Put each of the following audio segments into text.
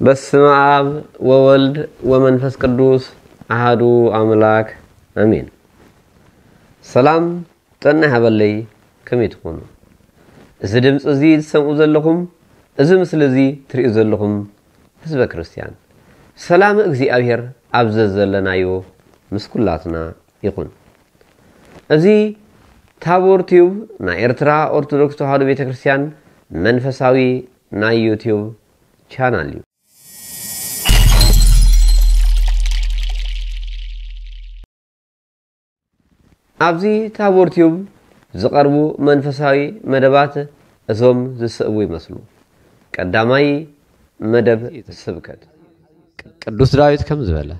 በስመ አብ ወወልድ ወመንፈስ ቅዱስ አሃዱ አምላክ አሜን። ሰላም ጥዕና ይሃበለይ። ከመይ ትኾኑ? እዚ ድምፂ እዚ ትሰምዑ ዘለኹም፣ እዚ ምስሊ እዚ ትርእዩ ዘለኹም ህዝበ ክርስቲያን፣ ሰላም እግዚኣብሔር ኣብ ዘዘለናዮ ምስ ኩላትና ይኹን። እዚ ታቦር ቲዩብ ናይ ኤርትራ ኦርቶዶክስ ተዋህዶ ቤተክርስትያን መንፈሳዊ ናይ ዩቲዩብ ቻናል እዩ። ኣብዚ ታቦር ቲዩብ ዝቐርቡ መንፈሳዊ መደባት እዞም ዝስዕቡ ይመስሉ። ቀዳማይ መደብ ስብከት። ቅዱስ ዳዊት ከም ዝበለ፣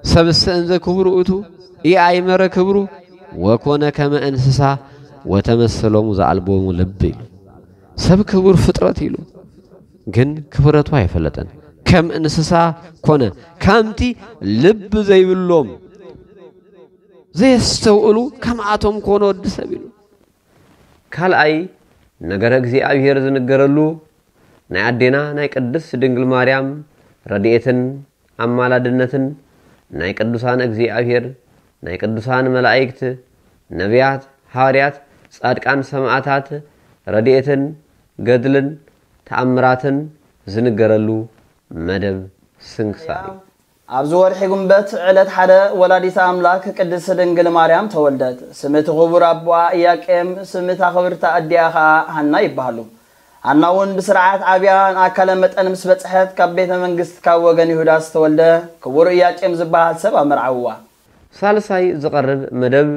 "ሰብእሰ እንዘ ክቡር ውእቱ ኢአእመረ ክብሩ ወኮነ ከመ እንስሳ ወተመሰሎሙ ዘአልቦሙ ልብ" ኢሉ። ሰብ ክቡር ፍጥረት ኢሉ፣ ግን ክብረቱ ኣይፈለጠን። ከም እንስሳ ኮነ፣ ከምቲ ልብ ዘይብሎም ዘየስተውእሉ ከምኣቶም ኮነ ወዲ ሰብ ኢሉ። ካልኣይ ነገረ እግዚኣብሔር ዝንገረሉ ናይ ኣዴና ናይ ቅድስት ድንግል ማርያም ረድኤትን ኣማላድነትን፣ ናይ ቅዱሳን እግዚኣብሔር፣ ናይ ቅዱሳን መላእክት፣ ነቢያት፣ ሃዋርያት፣ ጻድቃን፣ ሰማዕታት ረድኤትን ገድልን ተኣምራትን ዝንገረሉ መደብ ስንክሳር እዩ። ኣብዚ ወርሒ ጉንበት ዕለት ሓደ ወላዲተ ኣምላክ ቅድስት ድንግል ማርያም ተወልደት። ስም እቲ ክቡር ኣቦኣ ኢያቄም፣ ስም እታ ክብርቲ ኣዲኣ ኸኣ ሃና ይበሃሉ። ሃና እውን ብስርዓት ዓብያ ንኣካለ መጠን ምስ በጽሐት ካብ ቤተ መንግስት ካብ ወገን ይሁዳ ዝተወልደ ክቡር ኢያቄም ዝበሃል ሰብ ኣመርዓውዋ። ሳልሳይ ዝቐርብ መደብ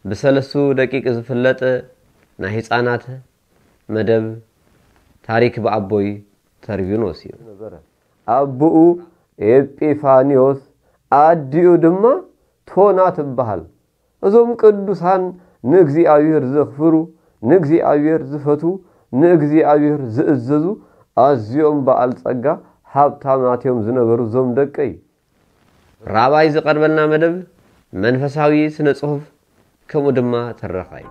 ብሰለስቱ ደቂቅ ዝፍለጥ ናይ ህፃናት መደብ ታሪክ ብኣቦይ ተርቢኖስ እዩ። ነበረ። ኣቦኡ ኤጲፋንዮስ፣ ኣዲኡ ድማ ቶና ትበሃል። እዞም ቅዱሳን ንእግዚኣብሔር ዘኽብሩ፣ ንእግዚኣብሔር ዝፈትዉ፣ ንእግዚኣብሔር ዝእዘዙ ኣዝዮም በዓል ጸጋ ሃብታማት እዮም ዝነበሩ እዞም ደቀይ። ራባይ ዝቐርበልና መደብ መንፈሳዊ ስነ ጽሑፍ ከምኡ ድማ ትረኻ እዩ።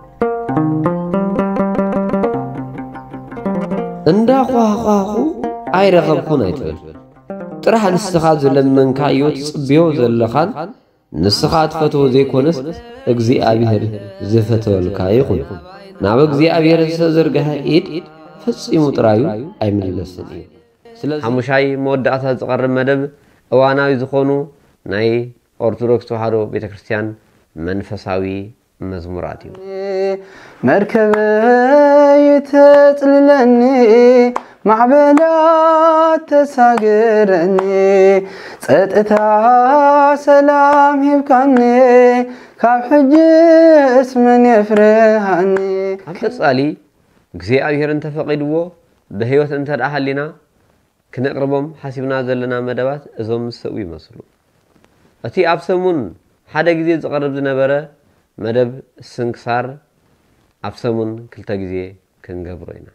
እንዳ ኳህኳኹ ኣይረኸብኩን ኣይትበል። ጥራሕ ንስኻ ዝለመንካዮ ትጽብዮ ዘለኻን ንስኻ ትፈትዎ ዘይኮነስ እግዚኣብሔር ዝፈተወልካ ይኹን። ናብ እግዚኣብሔር ዝተዘርግሐ ኢድ ፈጺሙ ጥራዩ ኣይምለስን እዩ። ስለዚ ሓሙሻይ መወዳእታ ዝቐርብ መደብ እዋናዊ ዝኾኑ ናይ ኦርቶዶክስ ተዋህዶ ቤተክርስትያን መንፈሳዊ መዝሙራት እዩ። መርከበይ ተጽልለኒ፣ ማዕበላት ተሳገረኒ፣ ጸጥታ ሰላም ሂብካኒ፣ ካብ ሕጅስ መን የፍርሃኒ? ኣብ ቀጻሊ እግዚኣብሔር እንተፈቒድዎ ብህይወት እንተ ደኣ ሃሊና ክነቕርቦም ሓሲብና ዘለና መደባት እዞም ዝስዕቡ ይመስሉ። እቲ ኣብ ሰሙን ሓደ ግዜ ዝቐርብ ዝነበረ መደብ ስንክሳር ኣብ ሰሙን ክልተ ግዜ ክንገብሮ ኢና።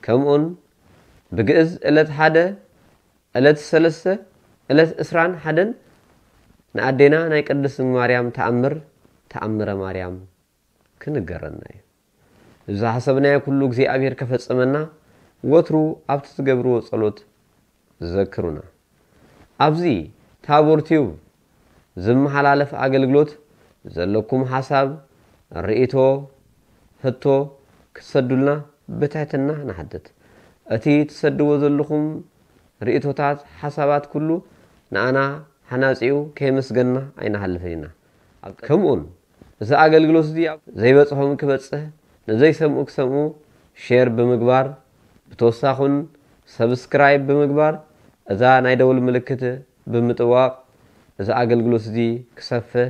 ከምኡን ብግእዝ ዕለት ሓደ፣ ዕለት ሰለስተ፣ ዕለት ዕስራን ሓደን ንኣዴና ናይ ቅድስት ማርያም ተኣምር፣ ተኣምረ ማርያም ክንገረና እዩ። ዝሓሰብናዮ ኩሉ እግዚኣብሔር ከፈጸመና ወትሩ ኣብቲ ትገብርዎ ጸሎት ዘክሩና። ኣብዚ ታቦር ቲዩብ ዝመሓላለፍ ኣገልግሎት ዘለኩም ሓሳብ፣ ርእይቶ፣ ሕቶ ክትሰዱልና ብትሕትና ንሓትት። እቲ ትሰድዎ ዘለኹም ርእይቶታት፣ ሓሳባት ኩሉ ንኣና ሓናጺኡ ከየመስገንና ኣይንሓልፍን ኢና። ከምኡን እዚ ኣገልግሎት እዚ ኣብ ዘይበጽሖም ክበጽሕ፣ ንዘይሰምዑ ክሰምዑ ሼር ብምግባር፣ ብተወሳኹን ሰብስክራይብ ብምግባር፣ እዛ ናይ ደውል ምልክት ብምጥዋቕ፣ እዚ ኣገልግሎት እዚ ክሰፍሕ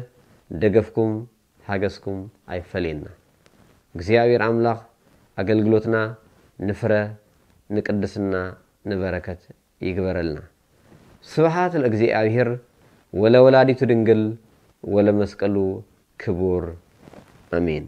ደገፍኩም ሓገዝኩም ኣይፈለየና። እግዚኣብሔር ኣምላኽ ኣገልግሎትና ንፍረ፣ ንቅድስና፣ ንበረከት ይግበረልና። ስብሐት ለእግዚኣብሔር ወለወላዲቱ ድንግል ወለመስቀሉ ክቡር። ኣሜን።